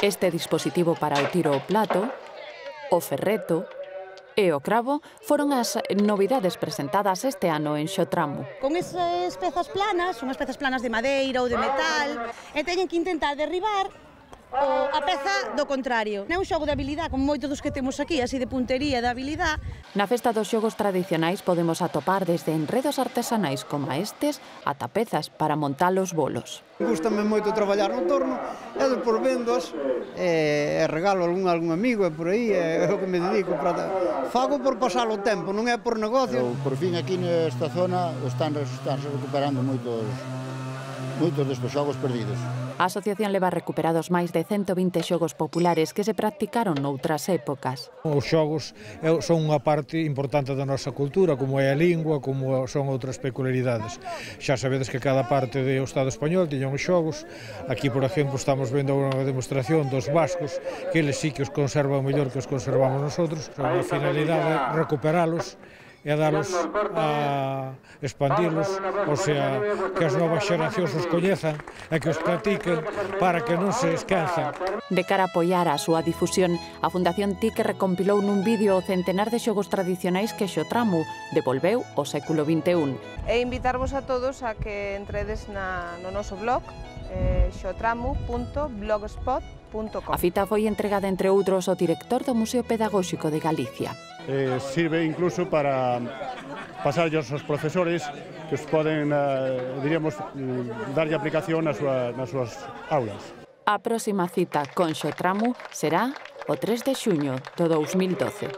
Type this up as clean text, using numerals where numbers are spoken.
Este dispositivo para o tiro ao plato, o ferreto e o cravo foron as novidades presentadas este ano en Xotramu. Con esas pezas planas, unhas pezas planas de madeira ou de metal, e teñen que intentar derribar a peza do contrario. É un xogo de habilidade, como moitos dos que temos aquí, así de puntería, de habilidade. Na festa dos xogos tradicionais podemos atopar desde enredos artesanais como estes ata pezas para montar os bolos. Gústame moito traballar no torno e depois vendos e regalo algún amigo e por aí é o que me dedico. Fago por pasar o tempo, non é por negocio. Por fin aquí nesta zona están recuperando moitos destes xogos perdidos. A asociación leva recuperados máis de 120 xogos populares que se practicaron noutras épocas. Os xogos son unha parte importante da nosa cultura, como é a lingua, como son outras peculiaridades. Xa sabedes que cada parte do Estado español tiña uns xogos. Aquí, por exemplo, estamos vendo unha demostración dos vascos, que eles sí que os conservan mellor que os conservamos nosotros. A finalidade é recuperalos e dalos a expandirlos, ou sea, que as novas xeracións os coñezan e que os practiquen para que non se esquezan. De cara a apoiar a súa difusión, a Fundación TIC recompilou nun vídeo o centenar de xogos tradicionais que Xotramu devolveu ao século XXI. E invitarvos a todos a que entredes no noso blog xotramu.blogspot.com. A fita foi entregada, entre outros, ao director do Museo Pedagóxico de Galicia. Sirve incluso para pasarllos aos profesores que os poden, diríamos, darlle aplicación nas súas aulas. A próxima cita con Xotramu será o 3 de xuño do 2012.